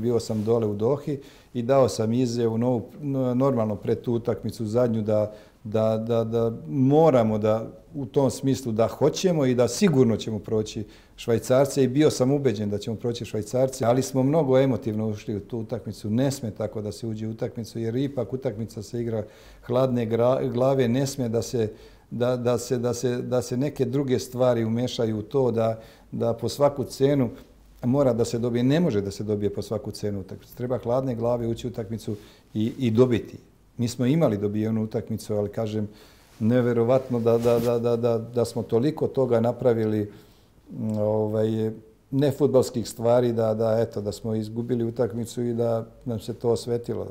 Bio sam dole u Dohi i dao sam izjavu normalno pred tu utakmicu zadnju da moramo da u tom smislu da hoćemo i da sigurno ćemo proći Švajcarce i bio sam ubeđen da ćemo proći Švajcarce, ali smo mnogo emotivno ušli u tu utakmicu. Ne sme tako da se uđe u utakmicu jer ipak utakmica se igra hladne glave, ne sme da se neke druge stvari umešaju u to da po svaku cenu mora da se dobije, ne može da se dobije po svaku cenu utakmicu. Treba hladne glave ući u utakmicu i dobiti. Mi smo imali dobijenu utakmicu, ali kažem, neverovatno da smo toliko toga napravili nefudbalskih stvari da smo izgubili utakmicu i da nam se to osvetilo.